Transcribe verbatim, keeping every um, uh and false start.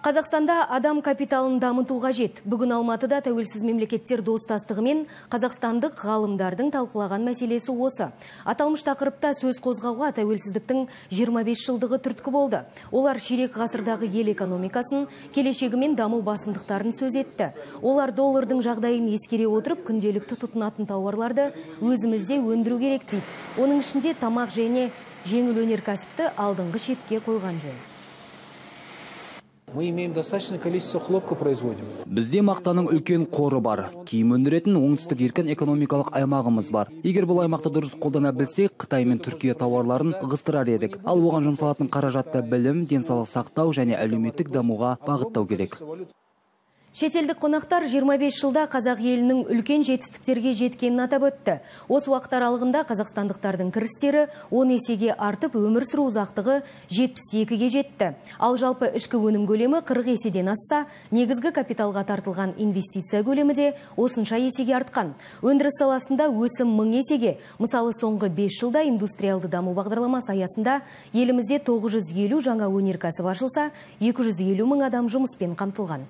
Қазақстанда адам капиталын дамыту қажет. Бүгін Алматыда тәуелсіз мемлекеттер достастығы мен қазақстандық ғалымдардың талқылаған мәселесі осы. Аталмыш тақырыпта сөз қозғауға тәуелсіздіктің жиырма бес жылдығы түрткі болды. Олар ширек ғасырдағы ел экономикасын, келешегі мен даму басымдықтарын сөз етті. Олар доллардың жағдайын ескере отырып, күнделікті тұтынатын тауарларды өзімізде өндіру керек дейді. Оның ішінде тамақ және жеңіл өнеркәсіпті алдыңғы шепке қойған жөн. Мы имеем достаточное количество хлопка производим. Бізде мақтаның үлкен қоры бар. Киім өндіретін оңтүстік еркін экономикалық аймағымыз бар. Егер бұл аймақты дұрыс қолдана білсек, Қытай мен Түркия тауарларын ығыстырар едік. Ал оған жұмсалатын қаражатты білім, денсаулық сақтау және әлеуметтік дамуға бағыттау керек. Шетелдік қонақтар жиырма бес жылда қазақ елінің үлкен жетістіктерге жеткенін атап өтті. Осы уақыт аралығында қазақстандықтардың кірістері он есеге артып, өмір сүру ұзақтығы жетпіс екіге жетті. Ал жалпы ішкі өнім көлемі қырық еседен асса, негізгі капиталға тартылған инвестиция көлемі де осынша есеге артқан. Өндіріс саласында өсім мың есеге. Мысалы, соңғы бес жылда индустриалды даму бағдарламасы аясында елімізде тоғыз жүз елу жаңа өнеркәсіп ашылса, екі жүз елу мың адам жұмыспен қамтылған.